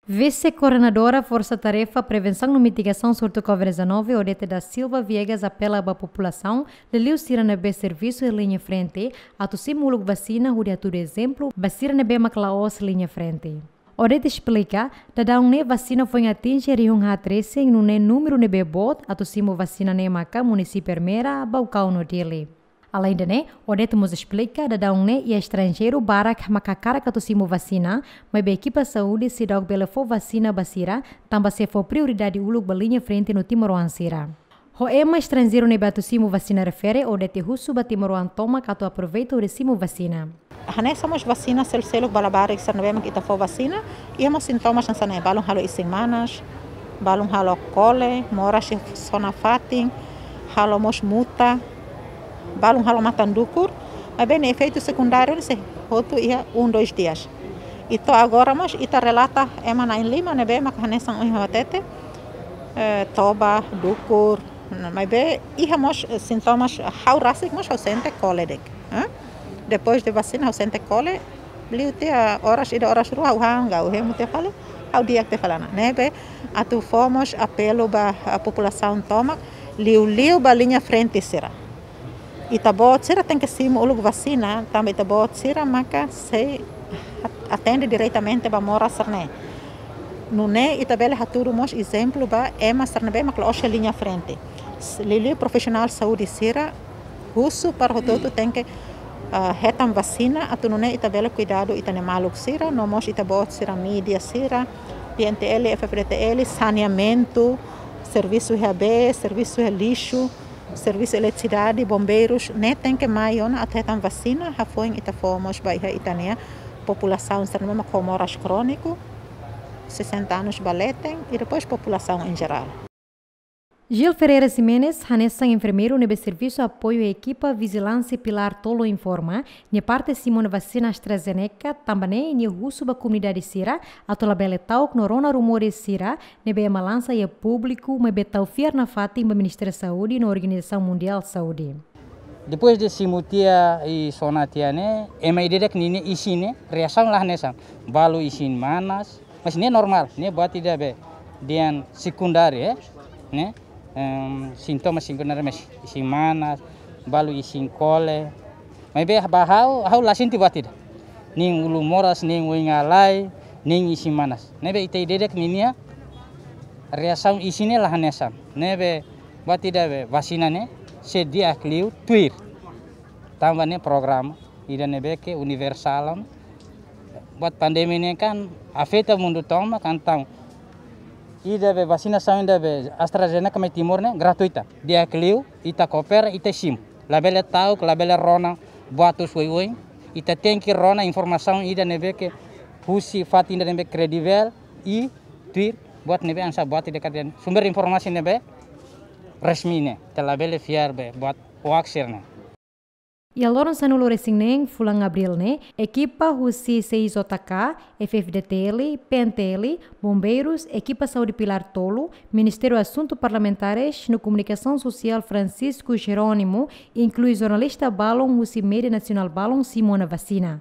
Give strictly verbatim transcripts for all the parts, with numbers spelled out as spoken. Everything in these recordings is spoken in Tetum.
Vise-Koordenadora Forsa Tarefa Prevensaun no Mitigasaun Surtu Covid dezanove, Odete da Silva Viegas, apela ba populasaun, liuliu sira ne'ebé servisu iha liña frente, atu simu uluk vasina, hodi hatudu ezemplu ba sira ne'ebé mak la'ós liña frente. Odete esplika, daudaun ne'e vasina foin atinje rihun haat resin, nune'e númeru ne'ebé boot atu simu vasina ne'e maka munisípiu Ermera, Baucau no Dili. Aleinde ne'e, Odete mós esplika, daudaun ne'e iha estranjeiru barak maka hakarak atu simu vasina, maibé ekipa saúde seidauk bele fó vasina ba sira, tanba sei fó prioridade uluk ba liña frente no timoroan sira. Ho ema estranjeiru ne'ebé atu simu vasina refere, Odete husu ba timoroan tomak atu aproveita hodi simu vasina. Hanesan mós vasina sel-seluk ba labarik sira ne'ebé mak ita fó vasina, iha mós sintomas hanesan ne'e, balun halo isin-manas, balun halo kole, moras iha sona fatin, halo mós muta, balun halo matan dukur, maibé nia efeitu sekundáriu ne'e sei hotu iha um, dois dias. I to'o agora mós ita relata ema na'in-lima ne'ebé maka hanesan ohin ha'u hatete, eh, toba, dukur, maibé iha mós, eh, sintomas, ha'u rasik mós ha'u sente kole de'it, eh? Depois de vasina ha'u sente kole, liu tiha oras ida oras rua ha'u han, ha'u hemu tiha fali, ha'u di'ak tiha fali ona. Ne'ebé atu fó mós apelu ba, ah, populasaun tomak, liuliu ba liña frente sira. Ita-boot sira tenke simu uluk vasina, tanba ita-boot sira maka sei at-, atende diretamente ba moras sira-ne'e. Nune'e ita bele hatudu mós ezemplu ba ema sira ne'ebé mak la'ós iha liña frente. S-, liuliu profisionál saúde sira, husu para hotu-hotu tenke, ah, hetan vasina, atu nune'e ita bele kuidadu ita-nia maluk sira, no mós ita-boot sira mídia sira, P N T L, F F D T L, saneamentu, servisu iha bee, servisu iha lixu, servisu eletrisidade, bombeirus, ne'e tenke mai ona atu hetan vasina, hafoin ita fó mós ba iha ita-nia populasaun sira ne'ebé mak ho moras króniku, sessenta anos ba leten, i depois populasaun em geral. Gil Ferreira Ximenes, hanesan enfermeiru ne'ebé servisu apoiu ekipa vijilánsia Pilar Tolu informa, nia parte simu ona vasina AstraZeneca, tanba ne'e nia husu ba komunidade sira, atu labele ta'uk no rona rumores sira, ne'ebé ema lansa iha públiku, maibé tau fiar nafatin ba Ministériu Saúde no Organizasaun Mundiál Saúde. Depois de simu tiha i sona tiha ne'e, ema ida-idak ninia isin ne'e, reasaun la hanesan. Balu isin-manas, mas ne'e normál, ne'e buat ida be dehan sekundáriu, eh? Ne'e, em, sintoma sekundáriu mais isin-manas, balu isin kole. Maibé ba ha'u, ha'u la sente buat ida. Nia ulun moras, nia oin halai, nia isin-manas. Ne'ebé ita ida-idak ninia reasaun isin ne'e la hanesan. Ne'ebé buat ida be vasina ne'e sei di'ak liu tuir. Tanba ne'e programa ida ne'ebé ke universál ona. Buat pandemia ne'e kan afeta mundu tomak, entaun ida be vasinasaun ida be AstraZeneca mai Timor ne'e gratuita. Di'ak liu, ita koopera, ita simu. Labele ta'uk, labele rona buat husi oioin. Ita tenke rona informasaun ida ne'ebé ke husi fatin ida ne'ebé kredivel i tuir buat ne'ebé hanesan buat ida kadeia sumber informasi ne'ebé resmi ne'e. Ita labele fiar be buat hoax sira-ne'e. Iha loron sanulu-resin-neen fulan Abríl ne'e, ekipa husi C I J K, F F D T L, P N T L, bombeirus, ekipa saúde Pilar Tolu, Ministériu Asuntu Parlamentares no Komunikasaun Sosiál Francisco Jerónimo, inklui jornalista balun husi média nasionál balun simu ona vasina.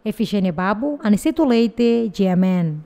Efigénia Babo, Aniceto Leite, G M N.